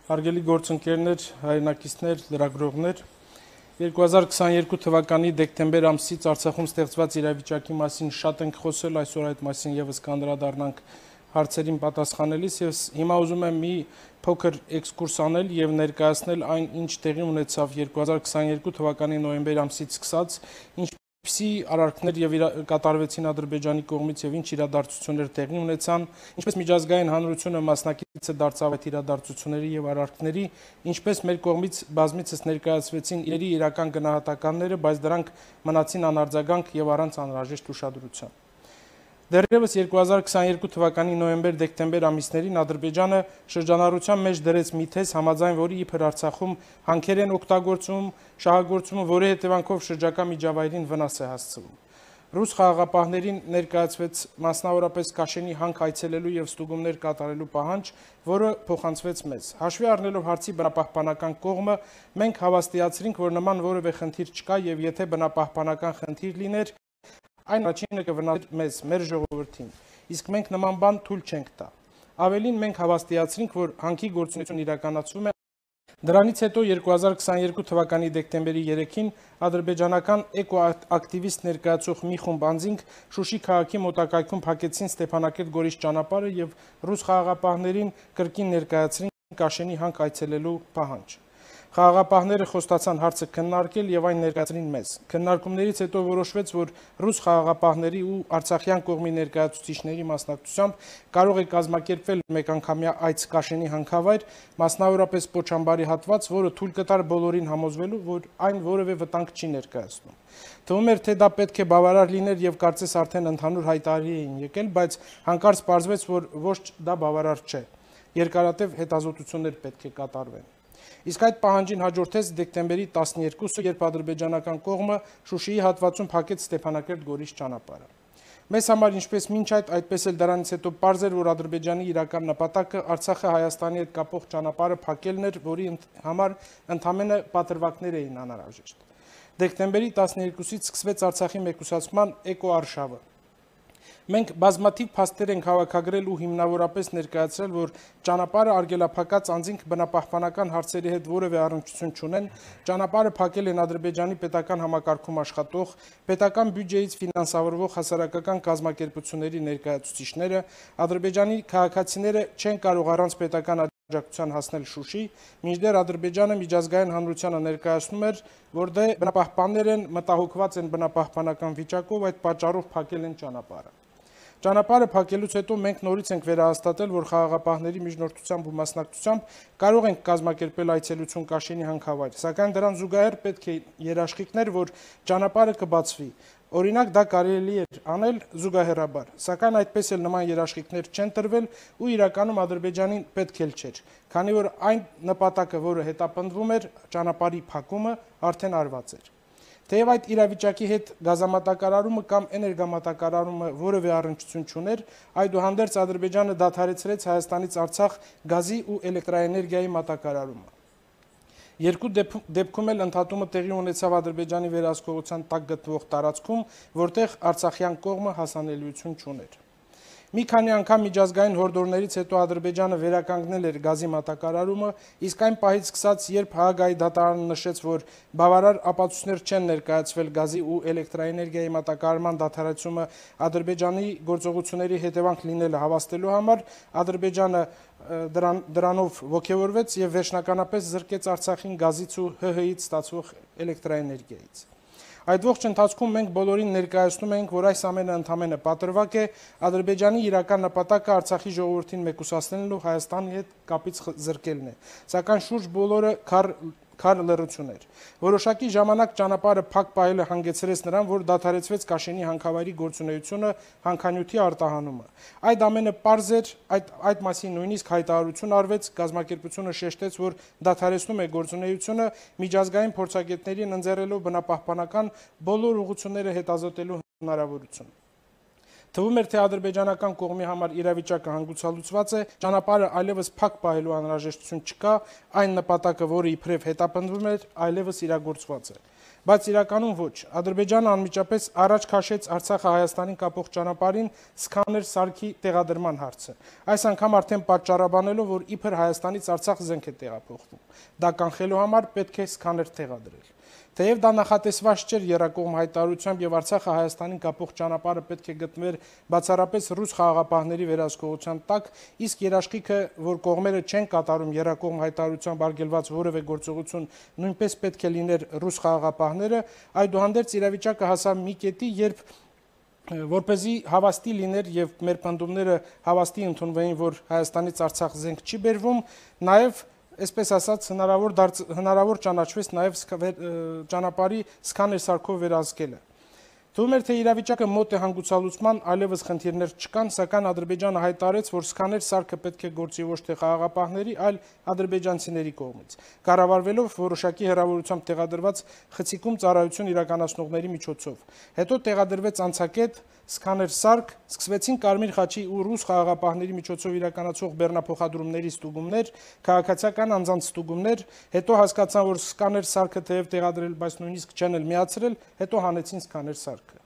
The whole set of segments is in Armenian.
Հարգելի գործընկերներ, հայրենակիցներ, լրագրողներ, 2022 թվականի դեկտեմբեր ամսից Արցախում ստեղծված իրավիճակի մասին շատ ենք խոսել, այսօր այդ մասին եւս կանդրադառնանք հարցերին պատասխանելիս եւ հիմա ուզում եմ մի փոքր էքսկուրս անել եւ ներկայացնել այն, ինչ տեղի ունեցավ 2022 թվականի նոյեմբեր ամսից սկսած, ինչպիսի արարքներ եւ կատարվեցին Ադրբեջանի կողմից եւ ինչ իրադարձություններ տեղի ունեցան, ինչպես միջազգային հանրությունը մասնակից է դարձավ այդ իրադարձությունների եւ արարքների, ինչպես մեր կողմից բազմիցս ներկայացվեցին իրերի իրական գնահատականները, բայց դրանք մնացին անարձագանք եւ առանց անհրաժեշտ ուշադրության։ Դեռևս 2022 թվականի նոյեմբեր-դեկտեմբեր ամիսներին Ադրբեջանը շրջանառության մեջ դրեց մի թեզ, համաձայն որի իբր Արցախում հանքեր են օգտագործում, շահագործում, որի հետևանքով շրջակա միջավայրին վնաս է հասցվում։ Ռուս խաղաղապահներին ներկայացվեց մասնավորապես Կաշենի հանք այցելելու եւ ստուգումներ կատարելու պահանջ, որը փոխանցվեց մեզ։ Հաշվի առնելով հարցի բնապահպանական կողմը, մենք հավաստիացրինք, որ նման որևէ խնդիր չկա եւ եթե բնապահպանական խնդիր լիներ, այն առաջինը կվնասեր մեզ, մեր ժողովրդին, իսկ մենք նման բան թույլ չենք տա։ Ավելին մենք հավաստիացրինք, որ հանքի գործունեություն իրականացվում է։ Դրանից հետո 2022 թվականի դեկտեմբերի 3-ին ադրբեջանական էկոակտիվիստ ներկայացող մի խումբ անձինք Շուշի քաղաքի մոտակայքում փակեցին Ստեփանակերտ Գորիս ճանապարհը եւ ռուս խաղաղապահներին կրկին ներկայացրին Կաշենի հանք այցելելու պահանջ։ Խաղաղապահները խոստացան հարցը քննարկել եւ այն ներկայացրին մեզ։ Քննարկումներից հետո որոշվեց, որ ռուս խաղաղապահների ու արցախյան կողմի ներկայացուցիչների մասնակցությամբ կարող է կազմակերպվել մեկանգամյա այց Կաշենի հանքավայր, մասնավորապես Պոչամբարի հատված, որը թույլ կտար բոլորին համոզվելու, որ այն որևէ վտանգ չի ներկայացնում։ Թվում էր, թե դա պետք է բավարար լիներ եւ կարծես արդեն ընդհանուր հայտարարի էին եկել, բայց հանկարծ պարզվեց, որ ոչ դա բավարար չէ։ Երկարատև հետազոտություններ պետք է կատարվեն։ Իսկ այդ պահանջին հաջորդեց դեկտեմբերի 12-ը, երբ ադրբեջանական կողմը Շուշիի հատվածում փակեց Ստեփանակերտ Գորիս ճանապարհը։ Մեզ համար ինչպես մինչ այդ, այդպես էլ դրանից հետո պարզ էր, որ Ադրբեջանի իրական նպատակը Արցախը Հայաստանի հետ կապող ճանապարհը փակելն էր, որի համար ընդամենը պատրվակներ էին անհրաժեշտ։ Դեկտեմբերի 12-ից սկսվեց Արցախի մեկուսացման էկոարշավը։ Մենք բազմաթիվ փաստեր ենք հավաքագրել ու հիմնավորապես ներկայացրել, որ ճանապարհը արգելափակած անձինք բնապահպանական հարցերի հետ որևէ առնչություն չունեն, ճանապարհը փակել են Ադրբեջանի պետական համակարգում աշխատող, պետական բյուջեից ֆինանսավորվող հասարակական կազմակերպությունների ներկայացուցիչները, Ադրբեջանի քաղաքացիները չեն կարող առանց պետական աջակցության հասնել Շուշի, մինչդեռ Ադրբեջանը միջազգային հանրությանը ներկայացնում էր, որ դե բնապահպաններ են, մտահոգված են բնապահպանական վիճակով, այդ պատճառով փակել են ճանապարհը։ Ճանապարհը փակելուց հետո մենք նորից ենք վերահաստատել, որ խաղաղապահների միջնորդությամբ ու մասնակցությամբ կարող ենք կազմակերպել այցելություն Կաշենի հանքավայր, սակայն դրան զուգահեռ պետք է երաշխիքներ, որ ճանապարհը կբացվի։ Օրինակ դա կարելի էր անել զուգահեռաբար, սակայն այդպես էլ նման երաշխիքներ չեն տրվել ու իրականում Ադրբեջանին պետք էլ չէր, քանի որ այն նպատակը, որը հետապնդվում էր, ճանապարհի փակումը, արդեն արված էր։ Թեև այդ իրավիճակի հետ գազամատակարարումը կամ էներգամատակարարումը որևէ առնչություն չուներ, այդուհանդերձ Ադրբեջանը դադարեցրեց Հայաստանից Արցախ գազի ու էլեկտրաէներգիայի մատակարարումը։ Երկու դեպքում էլ ընդհատումը տեղի ունեցավ Ադրբեջանի վերահսկողության տակ գտնվող տարածքում, որտեղ արցախյան կողմը հասանելիություն չուներ։ Մի քանի անգամ միջազգային հորդորներից հետո Ադրբեջանը վերականգնել էր գազի մատակարարումը, իսկ այն պահից սկսած, երբ Հաագայի դատարանը նշեց, որ բավարար ապացույցներ չեն ներկայացվել գազի ու էլեկտրաէներգիայի մատակարարման դադարեցումը Ադրբեջանի գործողությունների հետևանք լինելը հավաստելու համար, Ադրբեջանը դրանով ոգևորվեց եւ վերջնականապես զրկեց Արցախին գազից ու ՀՀ-ից ստացվող էլեկտրաէներգիայից։ Այդ ողջ ընթացքում մենք բոլորին ներկայացնում ենք, որ այս ամենը ընդամենը պատրվակ է, Ադրբեջանի իրական նպատակը Արցախի ժողովրդին մեկուսացնելն ու Հայաստանի հետ կապից զրկելն է, սակայն շուրջ բոլորը քար լռություն էր։ Որոշակի ժամանակ ճանապարհը փակ պահելը հանգեցրեց նրան, որ դադարեցվեց Կաշենի հանքավայրի գործունեությունը, հանքանյութի արտահանումը։ Այդ ամենը պարզ էր, այդ մասին նույնիսկ հայտարարություն արվեց, կազմակերպությունը շեշտեց, որ դադարեցնում է գործունեությունը, միջազգային փորձագետներին ընձեռելով բնապահպանական բոլոր ուղղությունները հետազոտելու հնարավորություն։ Թվում էր, թե ադրբեջանական կողմի համար իրավիճակը հանգուցալուծված է, ճանապարհը այլևս փակ պահելու անհրաժեշտություն չկա, այն նպատակը, որը իբրև հետապնդվում էր, այլևս իրագործված է։ բայց իրականում ոչ։ Ադրբեջանը անմիջապես առաջ քաշեց Արցախը Հայաստանին կապող ճանապարհին սկաներ սարքի տեղադրման հարցը։ Այս անգամ արդեն պատճառաբանելով, որ իբր Հայաստանից Արցախ զենք է տեղափոխվում։ Դա կանխելու համար պետք է սկաներ տեղադրել։ Թեև դա նախատեսված չէր եռակողմ հայտարարությամբ եւ Արցախը Հայաստանին կապող ճանապարհը պետք է գտնվեր բացառապես ռուս խաղաղապահների վերահսկողության տակ, իսկ երաշխիքը, որ կողմերը չեն կատարում եռակողմ հայտարարությամբ արգելված որևէ գործողություն, նույնպես պետք է լիներ ռուս խաղաղապահները, այդուհանդերձ իրավիճակը հասավ մի կետի, երբ որպեսզի հավաստի լիներ եւ մեր պնդումները հավաստի ընդունվեին, որ Հայաստանից Արցախ զենք չի բերվում, նաեւ այսպես ասած հնարավոր ճանաչվեց նաև ճանապարհի սկաներ սարքով վերահսկելը։ Թվում էր, թե իրավիճակը մոտ է հանգուցալուծման, այլևս խնդիրներ չկան, սակայն Ադրբեջանը հայտարարեց, որ սկաներ սարքը պետք է գործի ոչ թե խաղաղապահների, այլ ադրբեջանցիների կողմից, կառավարվելով որոշակի հեռավորությամբ տեղադրված խցիկում ծառայություն իրականացնողների միջոցով։ Հետո տեղադրվեց անցակետ սկաներ սարք, սկսվեցին Կարմիր խաչի ու ռուս խաղաղապահների միջոցով իրականացող բեռնափոխադրումների ստուգումներ, քաղաքացիական անձանց ստուգումներ, հետո հասկացան, որ սկաներ սարքը թեև տեղադրել, բայց նույնիսկ չեն էլ միացրել, հետո հանեցին սկաներ սարքը։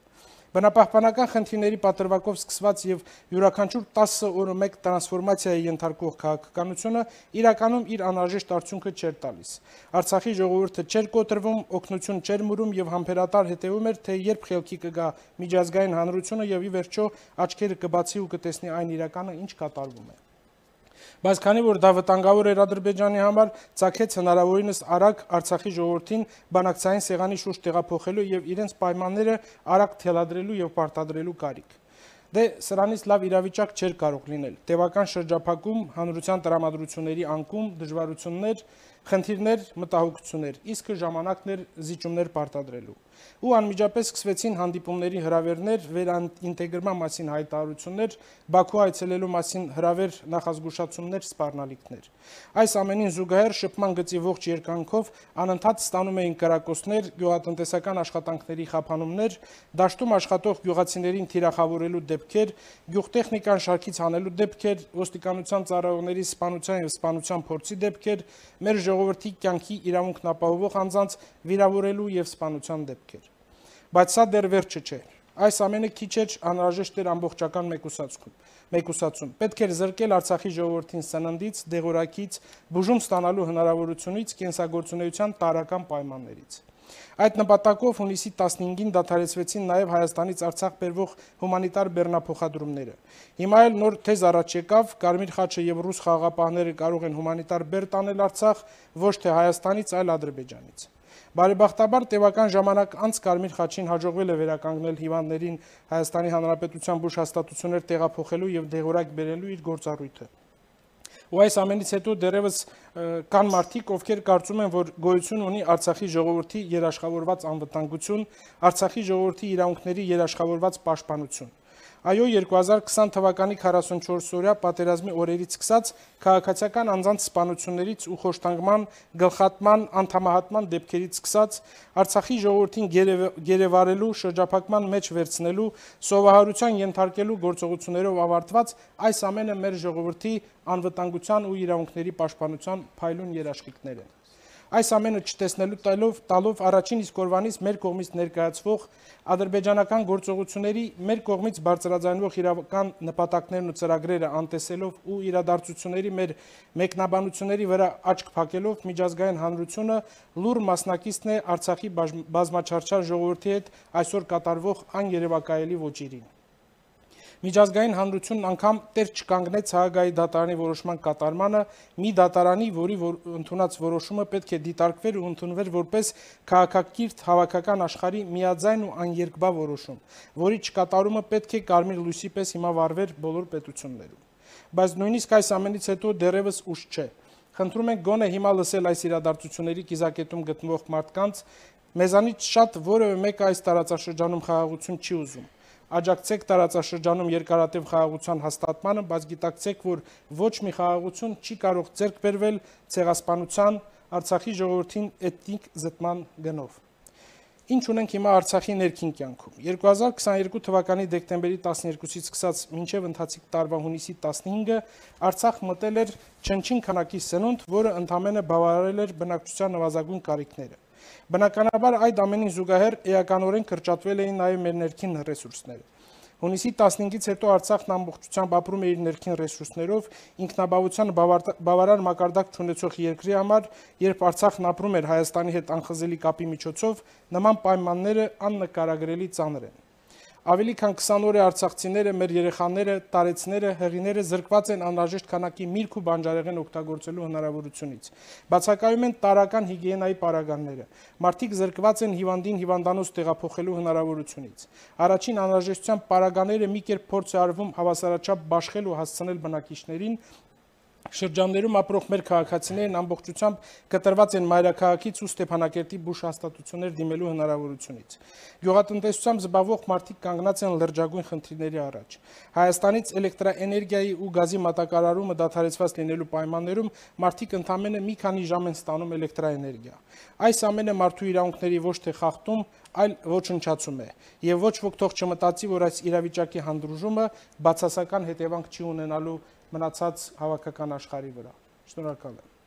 Բնապահպանական խնդիրների պատրվակով սկսված եւ յուրաքանչյուր 10 օրը մեկ տրանսֆորմացիայի ենթարկող քաղաքականությունը իրականում իր անհրաժեշտ արդյունքը չէր տալիս։ Արցախի ժողովուրդը չէր կոտրվում, օգնություն չէր մուրում եւ համբերատար հետեւում էր, թե երբ խելքի կգա միջազգային հանրությունը եւ ի վերջո աչքերը կբացի ու կտեսնի այն իրականը, ինչ կատարվում է։ Բայց քանի որ դա վտանգավոր էր Ադրբեջանի համար, ցակեց հնարավորինս արագ Արցախի ժողովրդին բանակցային սեղանի շուրջ տեղափոխելու եւ իրենց պայմանները արագ թելադրելու եւ պարտադրելու կարիք։ Դե սրանից լավ իրավիճակ չէր կարող լինել։ Տևական շրջափակում, հանրության տրամադրությունների անկում, դժվարություններ, խնդիրներ, մտահոգություններ, իսկ ժամանակն էր զիջումներ պարտադրելու։ Ու անմիջապես սկսվեցին հանդիպումների հրավերներ, վերաինտեգրման մասին հայտարարություններ, Բաքու այցելելու մասին հրավեր, նախազգուշացումներ, սպառնալիքներ։ Այս ամենին զուգահեռ շփման գծի ողջ երկայնքով անընդհատ ստանում էին կրակոցներ, գյուղատնտեսական աշխատանքների խափանումներ, դաշտում աշխատող գյուղացիներին թիրախավորելու դեպքեր, գյուղտեխնիկան շարքից հանելու դեպքեր, ոստիկանության ծառայողների սպանության եւ սպանության փորձի դեպքեր, մեր ժողովրդի կյանքի իրավունքն ապահովող անձանց վիրավորելու եւ սպանության դեպքեր։ Բայց սա դեռ վերջը չէ։ Այս ամենը քիչ էր, անհրաժեշտ էր ամբողջական մեկուսացում։ Պետք էր զրկել Արցախի ժողովրդին սննդից, դեղորայքից, բուժում ստանալու հնարավորությունից, կենսագործունեության տարրական պայմաններից։ Այդ նպատակով հունիսի 15-ին դադարեցվեցին նաև Հայաստանից Արցախ բերվող հումանիտար բեռնափոխադրումները։ Հիմա էլ նոր թեզ առաջ եկավ, Կարմիր խաչը եւ ռուս խաղաղապահները կարող են հումանիտար բեռ տանել Արցախ ոչ թե Հայաստանից, այլ Ադրբեջանից։ Բարեբախտաբար տևական ժամանակ անց Կարմիր խաչին հաջողվել է վերականգնել հիվանդներին Հայաստանի Հանրապետության բուժ հաստատություններ տեղափոխելու եւ դեղորայք բերելու իր գործառույթը։ Ու այս ամենից հետո դեռևս կան մարդիկ, ովքեր կարծում են, որ գոյություն ունի Արցախի ժողովրդի երաշխավորված անվտանգություն, Արցախի ժողովրդի իրավունքների երաշխավորված պաշտպանություն։ Այո, 2020 թվականի 44-օրյա պատերազմի օրերից սկսած քաղաքացիական անձանց սպանություններից ու խոշտանգման, գլխատման, անդամահատման դեպքերից սկսած Արցախի ժողովրդին գերեվարելու, շրջափակման մեջ վերցնելու, սովահարության ենթարկելու գործողություններով ավարտված այս ամենը մեր ժողովրդի անվտանգության ու իրավունքների պաշտպանության փայլուն երաշխիքներ են։ Այս ամենը չտեսնելու տալով առաջին իսկ օրվանից մեր կողմից ներկայացվող ադրբեջանական գործողությունների մեր կողմից բարձրաձայնվող իրական նպատակներն ու ծրագրերը անտեսելով ու իրադարձությունների մեր մեկնաբանությունների վրա աչք փակելով միջազգային հանրությունը լուր մասնակիցն է Արցախի բազմաչարչար ժողովրդի հետ այսօր կատարվող աներևակայելի ոճիրին։ Միջազգային հանրությունն անգամ տեր չկանգնեց Հաագայի դատարանի որոշման կատարմանը, մի դատարանի, որի ընդունած որոշումը պետք է դիտարկվեր ու ընդունվեր որպես քաղաքակիրթ հավաքական աշխարհի միաձայն ու աներկբա որոշում, որի չկատարումը պետք է կարմիր լույսի պես հիմա վառվեր բոլոր պետություններում։ Բայց նույնիսկ այս ամենից հետո դեռևս ուշ չէ։ Խնդրում ենք գոնե հիմա լսել այս իրադարձությունների կիզակետում գտնվող մարդկանց, մեզանից շատ որևէ մեկը այս տարածաշրջանում խաղաղություն չի ուզում։ Աջակցեք տարածաշրջանում երկարատև խաղաղության հաստատմանը, բայց գիտակցեք, որ ոչ մի խաղաղություն չի կարող ձեռք բերվել ցեղասպանության, Արցախի ժողովրդին էթնիկ զտման գնով։ Ինչ ունենք հիմա Արցախի ներքին կյանքում։ 2022 թվականի դեկտեմբերի 12-ից սկսած մինչև ընթացիկ տարվա հունիսի 15-ը Արցախ մտել էր չնչին քանակի սնունդ, որը ընդամենը բավարարել էր բնակչության նվազագույն կարիքները։ Բնականաբար այդ ամենին զուգահեռ էականորեն կրճատվել էին նաև մեր ներքին ռեսուրսները։ Հունիսի 15-ից հետո Արցախն ամբողջությամբ ապրում է իր ներքին ռեսուրսներով, ինքնաբավության բավարար մակարդակ չունեցող երկրի համար, երբ Արցախն ապրում էր Հայաստանի հետ անխզելի կապի միջոցով, նման պայմանները աննկարագրելի ծանր են։ Ավելի քան 20 օր է արցախցիները, մեր երեխաները, տարեցները, հեղիները զրկված են անհրաժեշտ քանակի միրգ ու բանջարեղեն օգտագործելու հնարավորությունից։ Բացակայում են տարրական հիգիենայի պարագաները։ Մարդիկ զրկված են հիվանդին հիվանդանոց տեղափոխելու հնարավորությունից։ Առաջին անհրաժեշտության պարագաները մի կերպ փորձ է արվում հավասարաչափ բաշխել ու հասցնել բնակիչներին։ Շրջաններում ապրող մեր քաղաքացիներն ամբողջությամբ կտրված են մայրաքաղաքից ու Ստեփանակերտի բուժ հաստատություններ դիմելու հնարավորությունից։ Գյուղատնտեսությամբ զբաղվող մարդիկ կանգնած են լրջագույն խնդիրների առաջ։ Հայաստանից էլեկտրաէներգիայի ու գազի մատակարարումը դադարեցված լինելու պայմաններում մարդիկ ընդամենը մի քանի ժամ են ստանում էլեկտրաէներգիա։ Այս ամենը մարդու իրավունքների ոչ թե խախտում, այլ ոչնչացում է։ Եվ ոչ ոք թող չմտածի, որ այս իրավիճակի հանդուրժումը բացասական հետևանք չի ունենալու մնացած հավաքական աշխարհի վրա։ Շնորհակալ եմ։